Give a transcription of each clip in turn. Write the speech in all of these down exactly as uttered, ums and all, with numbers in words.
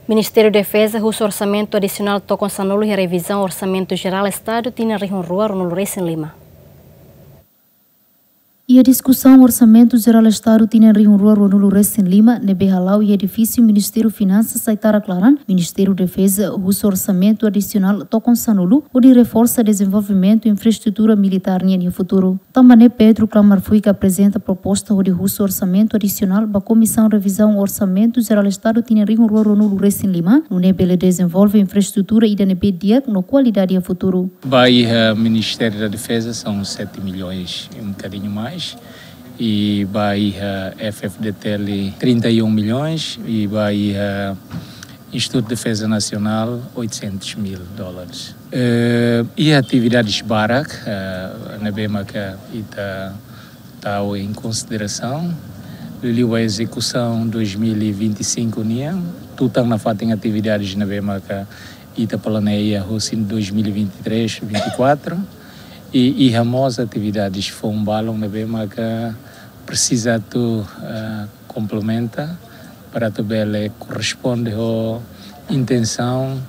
Ministériu Defeza husu orsamentu adisionál tokon sanulu iha revizaun Orsamentu Jerál Estadu tinan rihun rua ruanulu resin lima. Iha diskusaun Orsamentu Jerál Estadu tinan rihun rua ruanulu resin lima ne'ebé hala'o iha edifísiu Ministériu Finansas Aitarak laran, Ministériu Defeza husu orsamentu adisionál tokon sanulu hodi reforsa dezenvolvimentu infraestrutura militár nian iha futuru. Tanba ne'e Pedro Klamar Fuika aprezenta proposta hodi husu orsamentu adisionál ba Komisaun Revizaun Orsamentu Jerál Estadu tinan rihun rua ruanulu resin lima, nune'e bele dezenvolve infraestrutura ida ne'ebé di'ak no kualidade iha futuru. Ba iha Ministério da Defesa são sete milhões e um bocadinho mais. E ba iha F F D T L trinta e um milhões. E ba iha Instituto de Defesa Nacional oitocentos mil dólares. Eh, iha atividades barak, eh, ne'ebé maka ita tau em consideração. Liuliu ba ezekusaun dois mil e vinte e cinco nian, tutan nafatin atividades ne'ebé maka ita planeia hosi dois mil e vinte e três, vinte e quatro. E iha mós atividades foun balun ne'ebé maka presiza atu, eh, komplementa para atu bele korresponde ho intensaun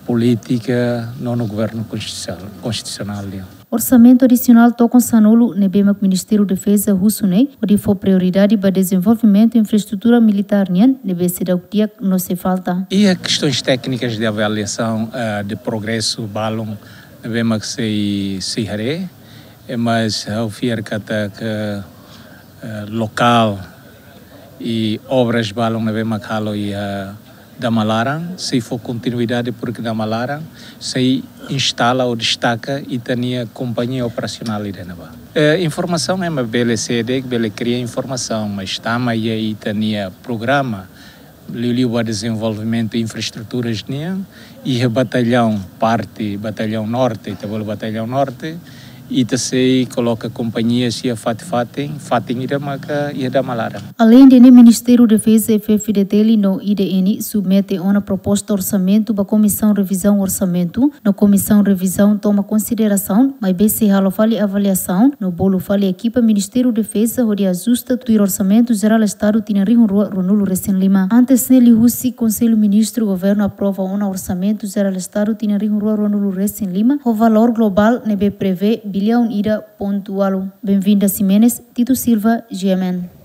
polítika Nono Governu Konstitusionál, Konstitusionál nian. Orsamentu adisionál tokon sanulu ne'ebé mak Ministériu Defeza husu ne'e hodi fó prioridade ba dezenvolvimentu infraestrutura militár nian ne'ebé seidauk di'ak no sei falta. Iha questões técnicas de avaliação, eh, de progresso balun ne'ebé mak sei, sei haree, eh, mas ha'u fiar katak, eh, lokál i obras balun ne'ebé mak halo iha Damalaran, sei fó kontinuidade, porque Damalaran sei instala ou destaka ita-nia kompañia operasionál ida ne'ebá. Eh, informasaun ema bele sede, bele kria informasaun, mas tama iha ita-nia programa, liuliu ba dezenvolvimentu infraestruturas nian, iha batallaun, parte batallaun norte, ita bolu batallaun norte, ita sei koloka kompañia iha fatin-fatin, fatin ida maka iha Damalaran. Aleinde ne'e, Ministériu Defeza, F F D T L no I D N submete ona proposta orsamentu ba Komisaun Revizaun Orsamentu, no Komisaun Revizaun toma konsiderasaun, maibé sei halo fali avaliasaun no bolu fali ekipa Ministériu Defeza hodi ajusta tuir Orsamentu Jerál Estadu tinan rihun rua ruanulu resin lima. Antes ne'e, liuhusi Konsellu Ministru, Governu aprova ona Orsamentu Jerál Estadu tinan rihun rua ruanulu resin lima ho valór globál ne'ebé prevee biliaun ida pontu ualu. Benvinda Ximenes, Tito Silva, G M N.